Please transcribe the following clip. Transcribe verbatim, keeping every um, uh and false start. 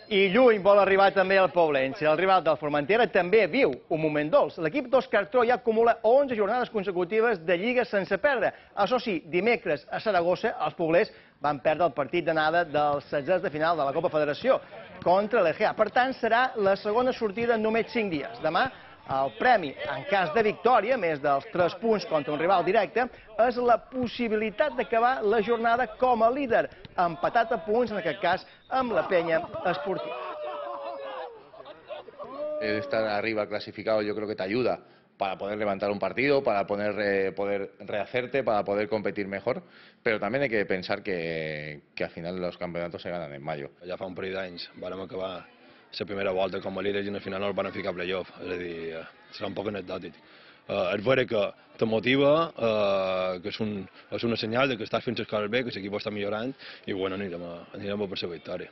I lluny vol arribar també el Poblense. El rival del Formentera també viu un moment dolç. L'equip d'Òscar Tró ja acumula onze jornades consecutives de Lliga sense perdre. Això sí, dimecres a Saragossa els poblers van perdre el partit d'anada dels setzents de final de la Copa Federació contra l'E G A. Per tant, serà la segona sortida en només cinc dies. Demà, el premi, en cas de victòria, més dels tres punts contra un rival directe, és la possibilitat d'acabar la jornada com a líder, empatat a punts, en aquest cas, amb la Penya Esportiva. Estar arriba clasificado yo creo que te ayuda para poder levantar un partido, para poder, eh, poder rehacerte, para poder competir mejor, pero también hay que pensar que, que al final los campeonatos se ganan en mayo. Ja fa un parell d'anys vàrem acabar la primera volta com a líders i al final no el van ficar a playoff, és a dir, serà un poc anecdòtic. Uh, és vera que te motiva, uh, que és, un, és una senyal de que estàs fent les coses bé, que l'equip està millorant i bueno, anirem a, anirem a per la victòria.